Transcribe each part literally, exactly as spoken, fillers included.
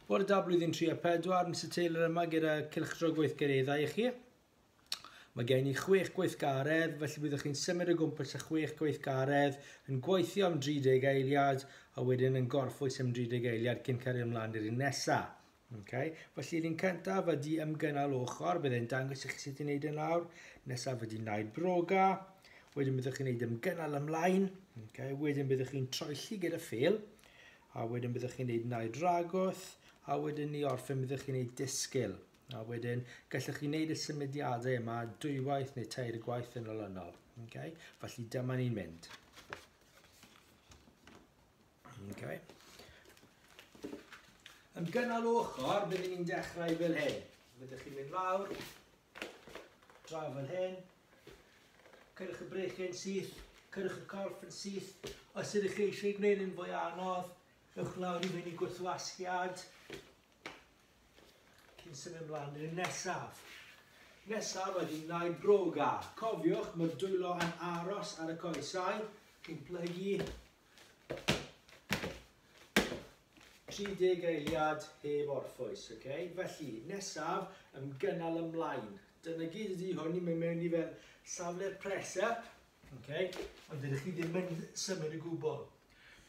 Bore da blwyddyn tri a pedwar, Mister Taylor yma gyda cylchdro gweithgareddau i chi. Mae gen i chwech gweithgaredd, felly byddwch chi'n symud o gwmpas y chwech gweithgaredd, yn gweithio am dri deg eiliad, a wedyn yn gorffwys am dri deg eiliad cyn cario ymlaen i'r un nesaf. Okay. Felly, un cyntaf ydy ymgynnal ochr, byddai'n dangos i chi sut i wneud yn lawr. Nesaf ydy naid broga, wedyn byddwch chi'n gwneud ymgynnal ymlaen, okay. Wedyn byddwch chi'n troelli gyda ffêl, a wedyn byddwch chi'n gwneud naid ragwth, a wedyn ni orffen byddwch chi'n gwneud disgyl. A wedyn gallwch chi wneud y symudiadau yma dwywaith neu tair gwaith yn olynol. Okay. Felly dyma ni'n mynd. Okay. Ymgynnal ochr, byddwn ni'n dechrau fel hyn. Byddwch chi'n mynd lawr, draw fel hyn, cyrwch y breichiau'n syth, cyrwch y corff yn syth. Os ydych chi eisiau gwneud yn fwy anodd, ewch lawr i fynd i gwrthwasgiad, cyn symud ymlaen i'r nesaf. Nesaf ydy naid broga. Cofiwch, mae'r dwylo yn aros ar y coesau. Chi'n plygu tri deg eiliad heb orffwys. Okay? Felly, nesaf, ymgynnal ymlaen. Dyna gyd ydy hwn, ni'n mynd mewn i fel safle'r press-up, okay? Ond dydych chi ddim yn symud o gwbl.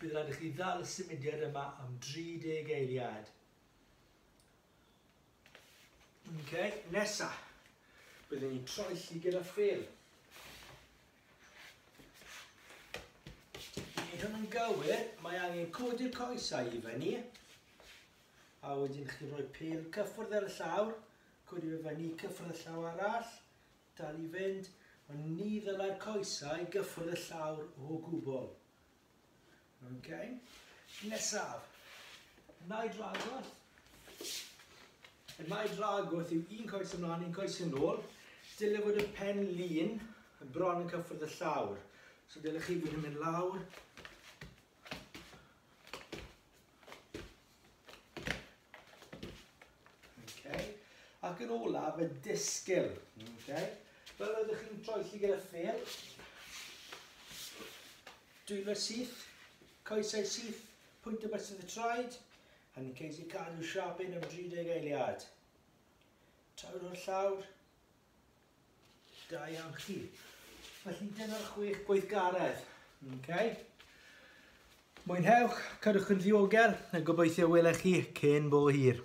Bydd rhaid i chi ddal y symudiad yma am dri deg eiliad. Okay, nesa, byddwn ni'n troelli gyda ffêl. I wneud hwn yn gywir, mae angen codi'r coesau i fyny, a wedyn chi'n rhoi pêl cyffwrdd ar y llawr, codi fe fyny, cyffwrdd y llaw arall, dal i fynd, ond ni ddylai'r coesau gyffwrdd y llawr o gwbl. Okay. Nesaf, naid ragwth. Y naid ragwth yw un coes ymlaen, un coes yn ôl. Dyle fod y pen lin y bron yn cyffwrdd y llawr. So dylech chi fod yn mynd lawr. Okay. Ac yn olaf, y disgyl. Okay. Fel oeddech chi'n troelli gyda ffêl, dwylo syth, coesau syth, pwynt o bysedd y traed, a ni'n ceisio cadw siap un am dri deg eiliad. Tawr o'r llawr, da iawn chi. Felly dyna'r chwech gweithgaredd. Okay. Mwynhewch, cadwch yn ddiogel, a gobeithio welech chi cyn bo hir.